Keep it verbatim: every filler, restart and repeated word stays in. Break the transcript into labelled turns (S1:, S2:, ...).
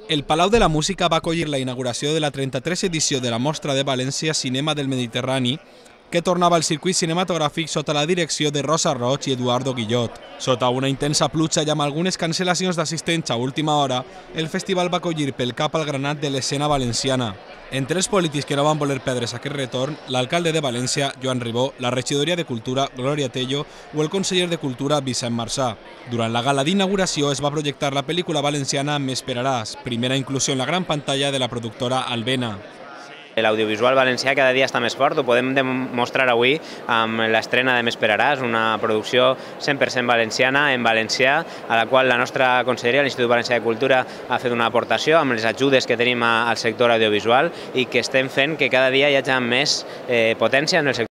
S1: El Palau de la Música va acollir la inauguració de la trenta-tresena edició de la Mostra de València Cinema del Mediterrani, que tornava al circuit cinematogràfic sota la direcció de Rosa Roig i Eduardo Guillot. Sota una intensa pluja i amb algunes cancel·lacions d'assistents a última hora, el festival va acollir pel cap al granat de l'escena valenciana. Entre els polítics que no van voler perdre's aquest retorn, l'alcalde de València, Joan Ribó, la regidoria de Cultura, Glòria Tello, o el conseller de Cultura, Vicent Marsà. Durant la gala d'inauguració es va projectar la pel·lícula valenciana M'esperaràs, primera inclusió en la gran pantalla de la productora Albena.
S2: L'audiovisual valencià cada dia està més fort, ho podem demostrar avui amb l'estrena de M'esperaràs, una producció cent per cent valenciana, en valencià, a la qual la nostra conselleria, l'Institut Valencià de Cultura, ha fet una aportació amb les ajudes que tenim al sector audiovisual i que estem fent que cada dia hi hagi més potència en el sector.